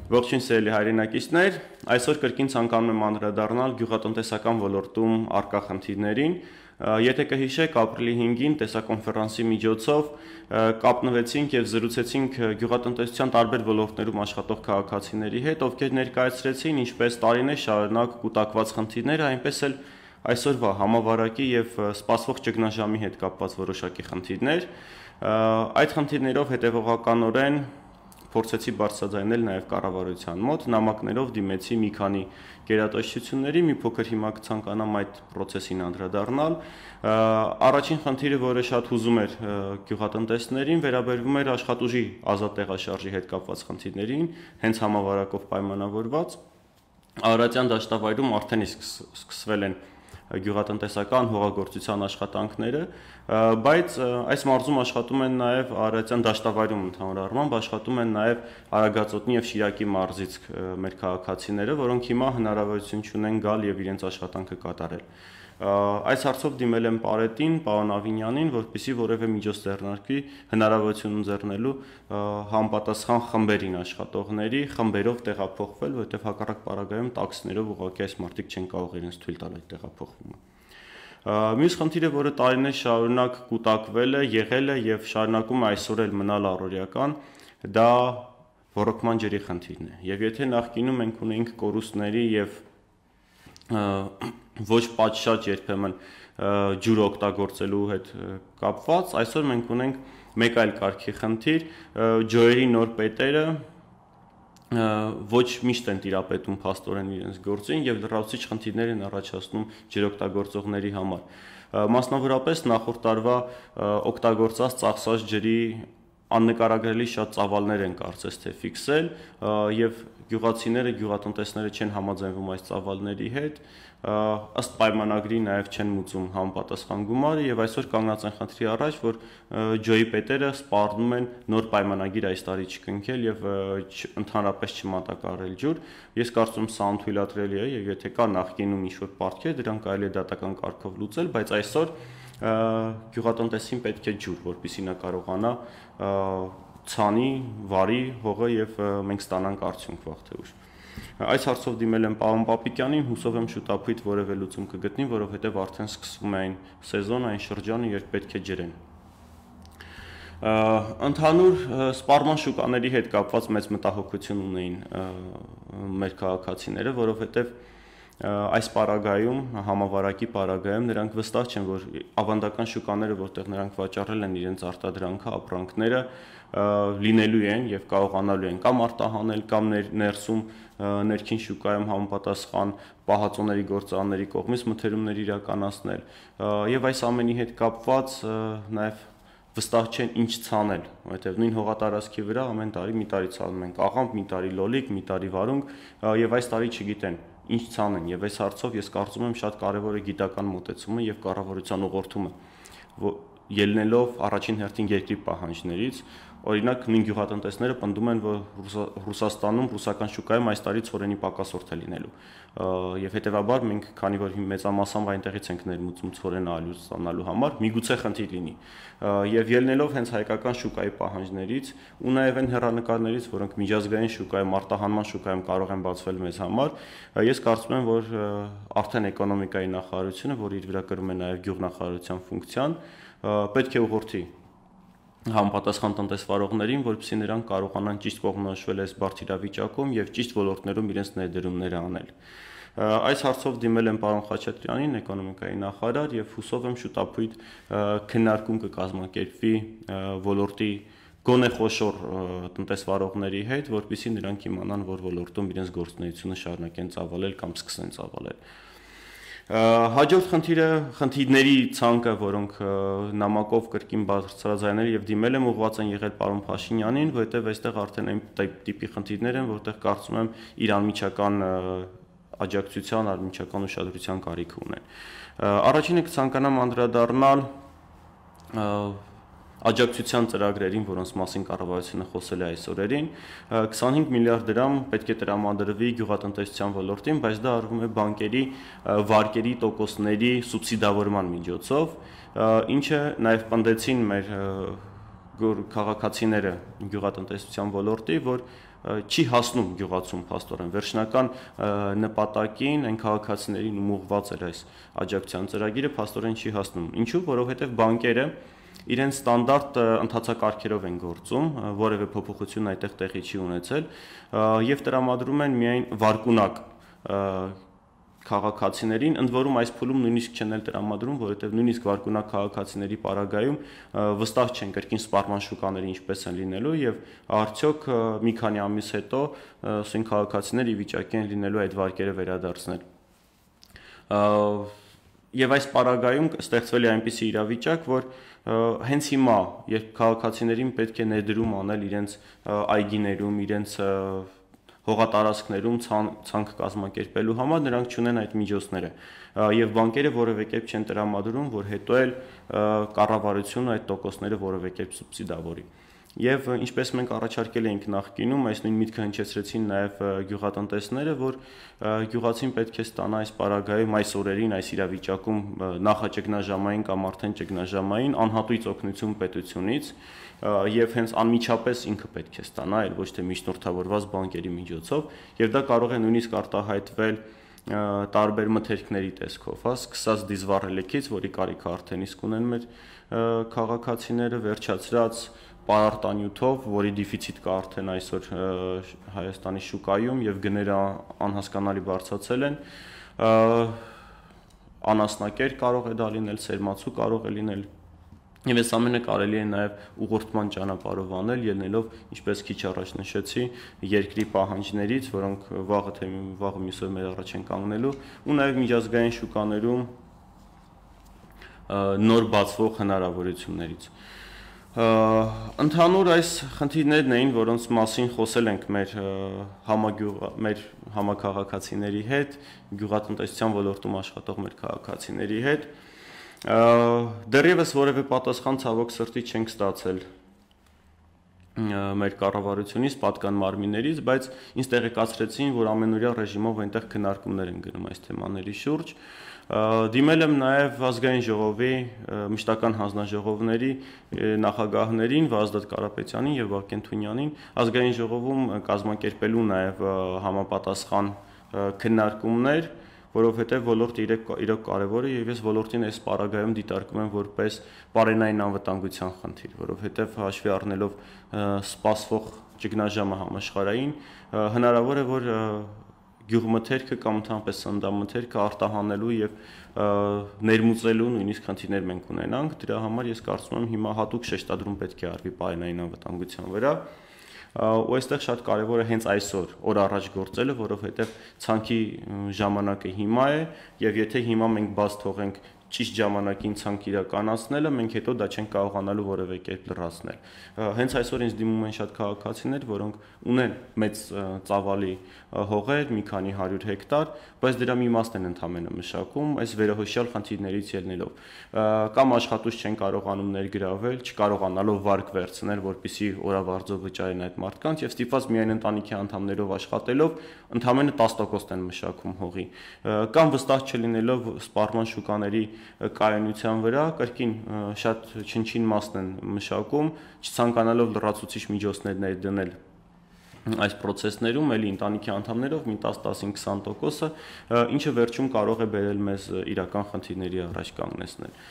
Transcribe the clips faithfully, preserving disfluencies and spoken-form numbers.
Ողջույն սիրելի հայրենակիցներ, այսօր կրկին ցանկանում եմ անդրադառնալ գյուղատնտեսական ոլորտում առկա խնդիրներին։ Եթե կհիշեք, ապրիլի հինգին տեսակոնֆերանսի միջոցով կապնվեցինք եւ զրուցեցինք գյուղատնտեսության տարբեր ոլորտներում աշխատող քաղաքացիների հետ, ովքեր ներկայացրեցին ինչպես տարիներ շարունակ կուտակված խնդիրները, այնպես էլ այսօրվա համավարակի եւ սպասվող ճգնաժամի հետ կապված որոշակի խնդիրներ։ Այդ խնդիրներով հետեւողականորեն փորձեցի բարձրաձայնել նաև կառավարության մոտ, նամակներով դիմեցի մի քանի գերատեսչությունների, մի փոքր հիմա կցանկանամ այդ process-ին անդրադառնալ։ Առաջին խնդիրը, որը շատ հուզում էր գյուղատնտեսներին, վերաբերվում էր աշխատուժի ազատ տեղաշարժի հետ կապված խնդիրներին, հենց համավարակով պայմանավորված։ Արարատյան դաշտավայրում արդեն իսկ սկսվել են գյուղատնտեսական հողագործության աշխատանքները, բայց այս մարզում աշխատում են նաև Արարատյան դաշտավայրում ընդհանուր առմամբ աշխատում են նաև Արագածոտնի եւ Շիրակի մարզից մեր քաղաքացիները, որոնք հիմա հնարավորություն ունեն գալ եւ իրենց աշխատանքը կատարել։ Այս հարցով դիմել եմ Պարետին, պարոն Ավինյանին, որպեսզի որևէ միջոց ձեռնարկի հնարավորություն ընձեռնելու համապատասխան խմբերին աշխատողների խմբերով տեղափոխվել, որովհետեւ հակառակ պարագայում տաքսիներով ուղղակի այս մարդիկ չեն կարող իրենց թույլ տալ այդ տեղափոխումը։ Մյուս խնդիրը, որը տարիներ շարունակ կուտակվել է, եղել է եւ շարունակում է այսօր էլ մնալ առօրյական, դա ռոռոկման ջրի խնդիրն է։ Եվ եթե նախկինում մենք ունեինք կորուստների եւ ոչ պատշաճ երբեմն ջուր օգտագործելու հետ կապված, այսօր մենք ունենք մեկ այլ կարգի խնդիր, ջոյերի նոր պետերը ոչ միշտ են տիրապետում փաստորեն իրենց գործին եւ լրացուցիչ խնդիրներ են առաջացնում ջրօգտագործողների համար։ Մասնավորապես նախորդ տարվա օգտագործած ծախսած ջրի աննկարագրելի շատ ծավալներ են կարծես թե ֆիքսել եւ գյուղացիները, գյուղատնտեսները չեն համաձայնվում այս ծավալների հետ, ըստ պայմանագրի նաեւ չեն մուծում համապատասխան գումարը եւ այսօր կանգնած են խնդրի առաջ, որ ջոյի պետերը սպառնում են նոր պայմանագիր այս տարի չկնքել եւ ընդհանրապես չմատակարարել ջուր։ Ես կարծում եմ սա անթույլատրելի է եւ եթե կա նախկինում ինչ-որ պարտքեր, դրանք կարելի է դատական կարգով լուծել, բայց այսօր գյուղատնտեսին պետք է ջուր, որպեսզի նա կարողանա ցանի, վարի հողը եւ մենք ստանանք արդյունք վաղ թե ուշ։ Այս հարցով դիմել եմ պարոն Պապիկյանին, հուսով եմ շուտապույտ որևէ լուծում կգտնի, որովհետեւ արդեն սկսվում է այն սեզոնը, այն շրջանը, երբ պետք է ջրեն։ Ընդհանուր սպառման շուկաների հետ կապված մեծ մտահոգություն ունեին մեր քաղաքացիները, որովհետեւ այս պարագայում, համավարակի պարագայում նրանք վստահ չեն, որ ավանդական շուկաները, որտեղ նրանք վաճառել են իրենց արտադրանքը, ապրանքները, լինելու են եւ կարողանալու են կամ արտահանել, կամ ներսում ներքին շուկայում համապատասխան պահածոների գործարանների կողմից մթերումներ իրականացնել։ Եվ այս ամենի հետ կապված նաեւ վստահ չեն ինչ ցանել, որովհետեւ նույն հողատարածքի վրա ամեն տարի մի տարի ցանում են աղամբ, մի տարի լոլիկ, մի տարի վարունգ եւ այս տարի չգիտեն ինչ ցանեն եւ այս հարցով ես կարծում եմ շատ կարեւոր է գիտական մոտեցումը եւ կառավարության ուղղորդումը, ելնելով առաջին հերթին երկրի պահանջներից, օրինակ նույն գյուղատնտեսները պնդում են, որ Ռուսաստանում, ռուսական շուկայում այս տարի ցորենի պակասորդ է լինելու եւ հետեւաբար մենք, քանի որ մեծամասամբ այնտեղից ենք ներմուծում ցորենը ալյուր ստանալու համար, միգուցե խնդիր լինի եւ ելնելով հենց հայկական շուկայի պահանջներից ու նաեւ այն հեռանկարներից, որոնք միջազգային շուկայում, արտահանման շուկայում կարող են բացվել մեզ համար, ես կարծում եմ, որ արդեն էկոնոմիկայի նախարարությունը, որ իր վրա կրում է նաեւ գյուղնախարարության ֆունկցիան, պետք է ուղղորդի համապատասխան տնտեսվարողներին, որպեսզի նրանք կարողանան ճիշտ կողմնորոշվել այս բարդ իրավիճակում եւ ճիշտ ոլորտներում իրենց ներդրումները անել։ Այս հարցով դիմել եմ պարոն Խաչատրյանին, էկոնոմիկայի նախարար, եւ հուսով եմ շուտապույտ քննարկում կկազմակերպվի ոլորտի գոնե խոշոր տնտեսվարողների հետ, որպեսզի նրանք իմանան, որ ոլորտում իրենց գործունեությունը շարունակեն ծավալել կամ սկսեն ծավալել։ Հաջորդ խնդիրը խնդիրների ցանկը, որոնք նամակով կրկին բարձրաձայնել եւ դիմել եմ ուղղված են եղել պարոն Փաշինյանին, որովհետեւ այստեղ արդեն այն տիպի խնդիրներ են, որտեղ կարծում եմ իր անմիջական աջակցության, անմիջական ուշադրության կարիք ունեն։ Առաջինը կցանկանամ անդրադառնալ աջակցության ծրագրերին, որոնց մասին կառավարությունը խոսել է այս օրերին, քսանհինգ միլիարդ դրամ պետք է տրամադրվի գյուղատնտեսության ոլորտին, բայց դա արվում է բանկերի վարկերի տոկոսների սուբսիդավորման միջոցով, ինչը նաև պնդեցին մեր քաղաքացիները գյուղատնտեսության ոլորտի, որ չի հասնում գյուղացում փաստորեն վերջնական նպատակին, այն քաղաքացիներին ուղղված էր այս աջակցության ծրագիրը փաստորեն չի հասնում։ Ինչու՞, որովհետև բանկերը իրենց ստանդարտ ընթացակարգերով են գործում, որևէ փոփոխություն այդտեղ տեղի չի ունեցել եւ տրամադրում են միայն վարկունակ քաղաքացիներին, ընդ որում այս փուլում նույնիսկ չեն էլ տրամադրում, որովհետև նույնիսկ վարկունակ քաղաքացիների պարագայում վստահ չեն կրկին սպառման շուկաները ինչպես են լինելու եւ արդյոք մի քանի ամիս հետո ասեն քաղաքացիները ի վիճակի են լինելու այդ վարկերը վերադարձնել։ Եվ այս պարագայում ստեղծվել է այնպիսի իրավիճակ, որ հենց հիմա, երբ քաղաքացիներին պետք է ներդրում անել իրենց այգիներում, իրենց հողատարածքներում ցանկ կազմակերպելու համար, նրանք չունեն այդ միջոցները եւ բանկերը որևէ կերպ չեն տրամադրում, որ հետո էլ կառավարությունը այդ տոկոսները որևէ կերպ սուբսիդավորի։ Եվ ինչպես մենք առաջարկել էինք նախկինում, այս նույն միտքը հնչեցրեցին նաև գյուղատնտեսները, որ գյուղացին պետք է ստանա այս պարագայում, այս օրերին, այս իրավիճակում նախաճգնաժամային կամ արդեն ճգնաժամային անհատույց օգնություն պետությունից եւ հենց անմիջապես ինքը պետք է ստանա, այլ ոչ թե միջնորդավորված բանկերի միջոցով, եւ դա կարող է նույնիսկ արտահայտվել տարբեր մթերքների տեսքով, հա, սկսած դիզվառելիքից, որի կարիքը արդեն իսկ ունեն մեր քաղաքացիները, վերջացրած պարարտանյութով, որի դեֆիցիտ կա արդեն այսօր Հայաստանի շուկայում եւ գները անհասկանալի բարձրացել են, անասնակեր կարող է դա լինել, սերմացու կարող է լինել, եւ այս ամենը կարելի է նաեւ ուղղորդման ճանապարհով անել, ելնելով, ինչպես քիչ առաջ նշեցի, երկրի պահանջներից, որոնք վաղը թե վաղը միսով մեր առաջ են կանգնելու, ու նաեւ միջազգային շուկաներում նոր բացվող հնարավորություններից։ Ընդհանուր այս խնդիրներն էին, որոնց մասին խոսել ենք մեր համագյուղ մեր համակարգացիների հետ, գյուղատնտեսության ոլորտում աշխատող մեր քաղաքացիների հետ։ Դեռևս որևէ պատասխան ցավոք սրտի չենք ստացել մեր կառավարությունից, պատկան մարմիններից, բայց ինձ տեղեկացրեցին, որ ամենօրյա ռեժիմով այնտեղ քննարկումներ են գնում այս թեմաների շուրջ։ Դիմել եմ նաև ազգային ժողովի մշտական հանձնաժողովների նախագահներին Վազդատ Կարապետյանին եւ Վարդան Թունյանին, ազգային ժողովում կազմակերպելու նաև համապատասխան քննարկումներ, որովհետեւ ոլորտը իրոք կարևոր է եւ ես ոլորտին այս պարագայում դիտարկում եմ որպես բարենային անվտանգության խնդիր, որովհետեւ հաշվի առնելով սպասվող ճգնաժամը համաշխարհային, հնարավոր է, որ գյուղմթերքը կամ ընդհանրապես սննդամթերքը արտահանելու եւ ներմուծելու նույնիսկ խնդիրներ մենք ունենանք, դրա համար ես կարծում եմ հիմա հատուկ շեշտադրում պետք է արվի բարենային անվտանգության վրա, ու այստեղ շատ կարևոր է հենց այսօր օր առաջ գործելը, որովհետեւ ցանկի ժամանակը հիմա է եւ եթե հիմա մենք բաց թողենք ճիշտ ժամանակին ցանկ իրականացնելը, մենք հետո դա չենք կարողանալու որևէ կերպ լրացնել։ Հենց այսօր ինձ դիմում են շատ քաղաքացիներ, որոնք ունեն մեծ ծավալի հողեր, մի քանի հարյուր հեկտար, բայց դրա մի մասն են ընդամենը մշակում, այս վերահսկյալ խնդիրներից ելնելով։ Կամ աշխատուց չեն կարողանում ներգրավել, չկարողանալով վարկ վերցնել, որպեսզի օրավարձով վճարեն այդ մարդկանց եւ ստիպված միայն ընտանիքի անդամներով աշխատելով, ընդամենը տասը տոկոս են մշակում հողի։ Կամ վստահ չլինելով սպառման շուկաների կայունության վրա կրկին շատ չնչին մասն են մշակում, չցանկանալով լրացուցիչ միջոցներ ներդնել այս process-ներում, էլի ընտանիքի անդամներով մի տասը տասնհինգ քսան տոկոսը, ինչը վերջում կարող է բերել մեզ իրական խնդիրների առաջ կանգնեցնել։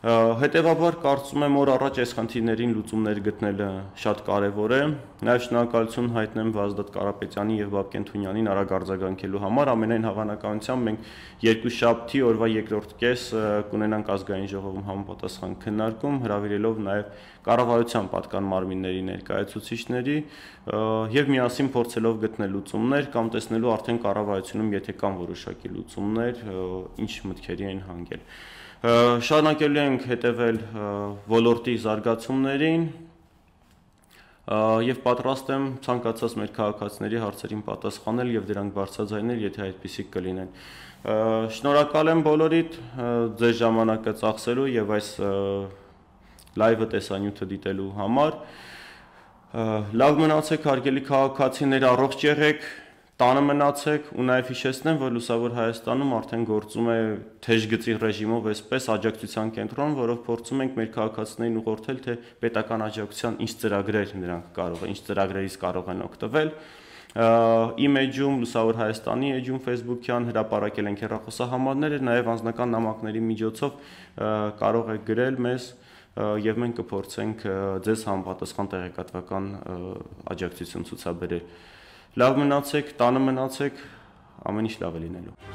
Հետևաբար կարծում եմ օր առաջ այս խնդիրներին լուծումներ գտնելը շատ կարևոր է։ Նաև շնորհակալություն հայտնեմ Վազդատ Կարապետյանին եւ Վարդան Թունյանին արագ արձագանքելու համար։ Ամենայն հավանականությամբ մենք երկուշաբթի օրվա երկրորդ կես կունենանք ազգային ժողովում համապատասխան քննարկում, հրավիրելով նաև կառավարության պատկան մարմինների ներկայացուցիչների եւ միասին փորձելով գտնել լուծումներ կամ տեսնելու արդեն կառավարությունում եթե կան որոշակի լուծումներ, ինչ մտքերի են հանգել։ Շարունակելու ենք հետևել ոլորտի զարգացումներին եւ պատրաստ եմ ցանկացած մեր քաղաքացիների հարցերին պատասխանել եւ դրանք բարձրաձայնել, եթե այդպիսիք կլինեն։ Շնորհակալ եմ բոլորիդ ձեր ժամանակը ծախսելու եւ այս լայվը տեսանյութը դիտելու համար։ Լավ մնացեք, հարգելի քաղաքացիներ, առողջ եղեք, տանը մնացեք ու նաև հիշեցնեմ, որ Լուսավոր Հայաստանում արդեն գործում է թեժգծի ռեժիմով այսպես աջակցության կենտրոն, որով փորձում ենք մեր քաղաքացիներին ուղղորդել, թե պետական աջակցության ինչ ծրագրեր նրանք կարող են, ինչ ծրագրերից կարող են օգտվել։ Իմ էջում, Լուսավոր Հայաստանի էջում Facebook-յան հրապարակել ենք հեռախոսահամարները, նաև անձնական նամակների միջոցով կարող եք գրել մեզ եւ մենք կփորձենք ձեզ համապատասխան տեղեկատվական աջակցություն ցուցաբերել։ Լավ մնացեք, տանը մնացեք, ամեն ինչ լավ է լինելու։